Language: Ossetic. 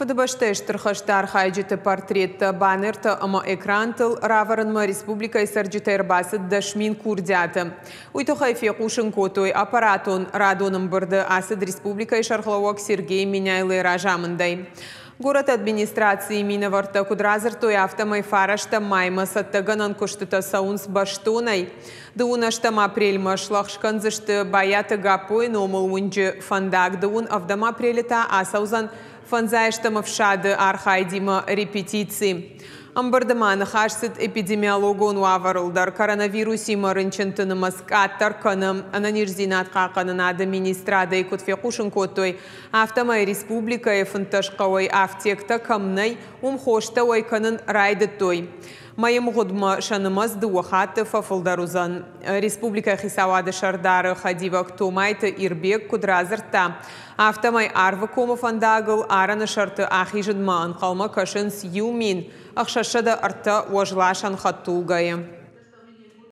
Фыдыбӕстӕйы Стыр хӕсты архайджыты портреттӕ баннертӕ ӕмӕ экрантыл равӕрынмӕ республикӕйы цӕрджытӕй ӕрбацыд 10 000 курдиаты. Уый тыххӕй фехъусын кодтой аппаратон радон ӕмбырды ацыд республикӕйы сӕргълӕууӕг Сергей Меняйлойы разамындӕй. Горӕты администрацийы минӕвӕрттӕ куыд радзырдтой, афтӕмӕй фарӕстӕм маймӕ цӕттӕгӕнӕн куыстытӕ цӕуынц бӕстонӕй. Дыууын ӕстӕм апрельмӕ слӕгъз кӕндзысты Байаты Гаппойы номыл уынджы фӕндаг, дыууын ӕвдӕм апрелы та ацӕудзӕн фӕндзайӕстӕм ӕфсады архайдимӕ репетици. Ӕмбырды ма ныхас цыд эпидемиологон уавӕрыл дӕр. Коронавирусимӕ рынчынты нымӕц къаддӕр кӕны. Ӕнӕниздзинад хъахъхъӕнынады министрадӕй куыд фехъусын кодтой, афтӕмӕй республикӕйы 15 хъӕуӕй афтектӕ кӕм нӕй, уым хостӕ уӕй кӕнын райдыдтой. Мӕйы мгъуыдмӕ сӕ нымӕц дыууӕ хатты фӕфылдӕр уыдзӕн. Республикӕйы хицауады сӕрдары хӕдивӕг Томайты Ирбег куыд радзырдта, афтӕмӕй Арвыкомы фӕндагыл арӕны сӕрты ахизынмӕ ӕнхъӕлмӕ кӕсынц 1603 уӕзласӕн хӕдтулгӕйы.